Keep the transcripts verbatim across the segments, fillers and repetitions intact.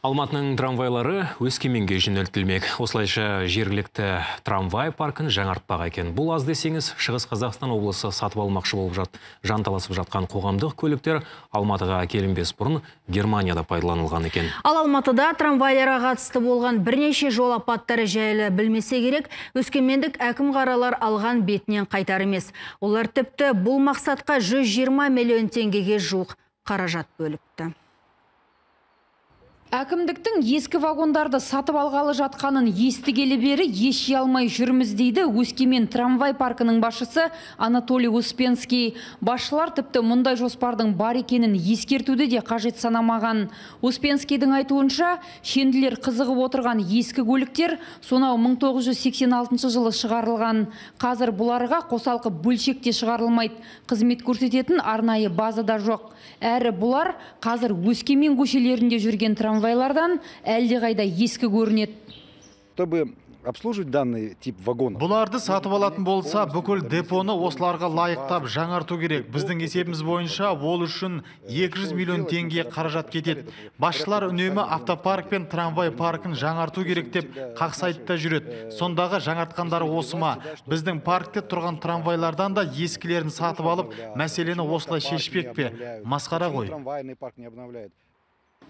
Алматының трамвайлары Өскеменге жөнелтілмек. Осылайша жергілікті трамвай паркын жаңартпақ екен. Бұл аз десеңіз, Шығыс Қазақстан облысы сатып алмақшы болып жат, жанталасып жатқан қоғамдық көліктер Алматыға келінбес бұрын Германияда пайдаланылған екен. Ал Алматыда трамвайларға қатысты болған бірнеше жол апаттары жайлы білмесе керек, өскемендік әкім қаралар алған бетінен қайтар емес. Олар тіпті бұл мақсатқа жүз жиырма миллион теңгеге жуық қаражат бөліпті. Әкімдіктің ескі вагондарды сатып алғалы жатқанын естігелі бері еш алмай жүрміз дейді Өскемен трамвай паркының басшысы Анатолий Успенский. Басшылар тіпті мұндай жоспардың бар екенін ескертуді де қажет санамаған. Успенскийдің айтуынша, шенділер қызығып отырған ескі көліктер сонау мың тоғыз жүз сексен алтыншы жылы шығарылған. Қазір бұларға қосалқы бөлшекте шығарылмайды. Қызмет көрсететін арнайы базада жоқ. Әрі бұлар қазір Өскемен көшелерінде жүрген трамвайлардан әлдеқайда ескі көрінеді. Чтобы обслуживать данный тип вагонов. Бұларды сатып алатын болса, бүкіл депоны осыларға лайықтап жаңарту керек. Біздің есебіміз бойынша ол үшін екі жүз миллион теңге қаражат кетеді. Басшылар үнемі автопарк пен трамвай паркын жаңарту керек деп қақсайтта жүреді. Сондағы жаңартқандары осы ма? Біздің паркте тұрған трамвайлардан да ескілерін сатып алып, мәселені осылай шешпек пе? Масқара ғой.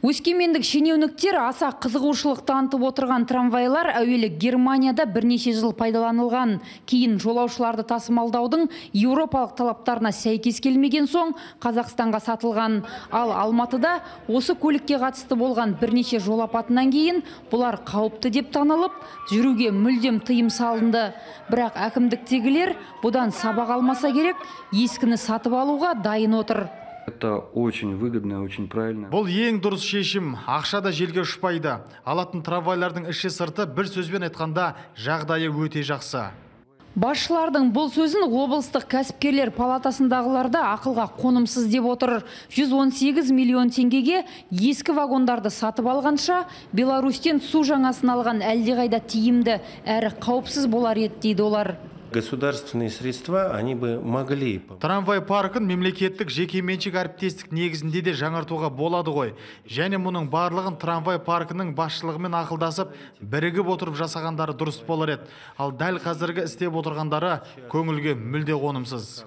Өскемендік шенеуніктер аса қызығушылық танытып отырған трамвайлар әуелі Германияда бірнеше жыл пайдаланылған. Кейін жолаушыларды тасымалдаудың еуропалық талаптарына сәйкес келмеген соң Қазақстанға сатылған. Ал Алматыда осы көлікке қатысты болған бірнеше жол апатынан кейін бұлар қауіпті деп танылып, жүруге мүлдем тыйым салынды. Бірақ әкімдіктегілер бұдан сабақ алмаса керек, ескіні сатып алуға дайын отыр. Это очень выгодно, очень правильно. Бұл ең дұрыс шешім. Ақша да желге ұшпайды. Алатын трамвайлардың іші сырты бір сөзбен айтқанда жағдайы өте жақсы. Басшылардың бұл сөзін облыстық кәсіпкерлер палатасындағыларда ақылға қонымсыз деп отыр. жүз он сегіз миллион теңгеге ескі вагондарды сатып алғанша, Беларусьтен су жаңасын алған әлдеқайда тиімді әрі қауіпсіз болар еді дейді олар. Государственные средства, они бы могли. Трамвай паркын мемлекеттік жекеменшік әріптестік негізінде де жаңартуға болады ғой. Және мұның барлығын трамвай паркының басшылығымен ақылдасып, бірігіп отырып жасағандары дұрыс болар еді. Ал дәл қазіргі істеп отырғандары көңілге мүлде қонымсыз.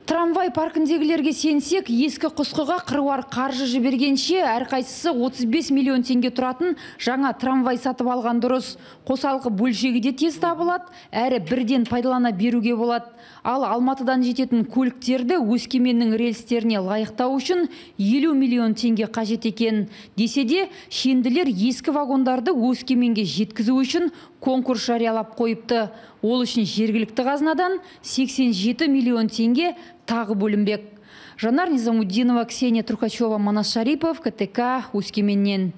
Трамвай паркіндегілерге сенсек, ескі құсқыға қыруар қаржы жібергенше әрқайсысы отыз бес миллион теңге тұратын жаңа трамвай сатып алған дұрыс. Қосалқы бөлшегі де тез табылады, әрі бірден пайдалана беруге болады. Ал Алматыдан жететін көліктерді Өскеменнің рельстеріне лайықтау үшін елу миллион теңге қажет екен. Десе де, шенділер ескі вагондарды Өскеменге жеткізу үшін конкурс жариялап қойыпты. Ол үшін жергілікті қазынадан сексен жеті миллион теңге тағы бөлінбек. Жанар Низамуддинова, Ксения Трухачева, Манас Шарипов, КТК, Өскеменнен.